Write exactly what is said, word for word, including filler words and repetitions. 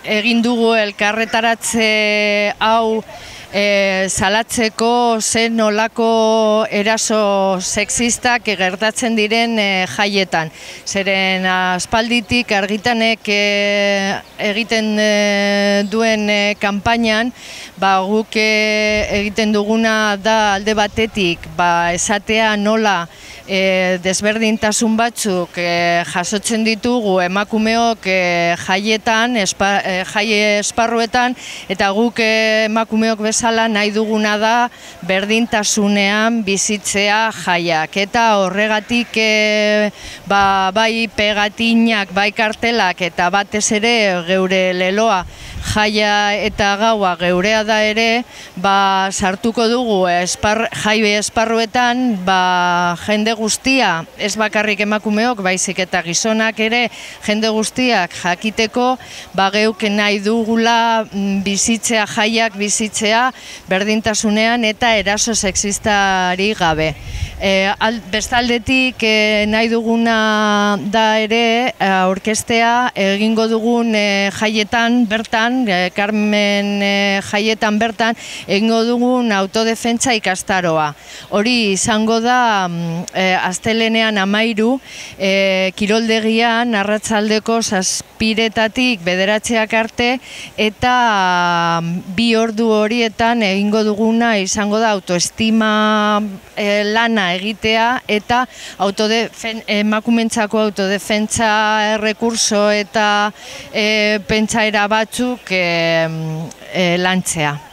egin dugu elkarretaratze hau E, salatzeko zen nolako eraso sexistak gertatzen diren e, jaietan. Zeren aspalditik argitanek e, egiten e, duen e, kanpainan, ba, guk e, egiten duguna da alde batetik ba, esatea nola e, desberdintasun batzuk e, jasotzen ditugu emakumeok e, jaietan, espa, e, jaie esparruetan, eta guk e, emakumeok bezala nahi duguna da berdintasunean bizitzea jaiak. Eta horregatik e, ba, bai pegatinak, bai kartelak eta batez ere geure leloa jaia eta gaua geurea da ere, ba, sartuko dugu espar, jai esparruetan ba, jende guztia, ez bakarrik emakumeok, baizik eta gizonak ere jende guztiak jakiteko, ba, geuk nahi dugula bizitzea jaiak bizitzea berdintasunean eta eraso sexistari gabe. E, al, bestaldetik e, nahi duguna da ere aurkeztea egingo dugun e, jaietan bertan, e, Carmen e, jaietan bertan, egingo dugun autodefentsa ikastaroa. Hori izango da e, astelenean amairu, e, kiroldegian arratsaldeko zazpiretatik bederatziak arte, eta bi ordu horietan egingo duguna izango da autoestima e, lana egitea eta autodefen, emakumentzako autodefentsa errekurso eta e, pentsaera batzuk e, e, lantzea.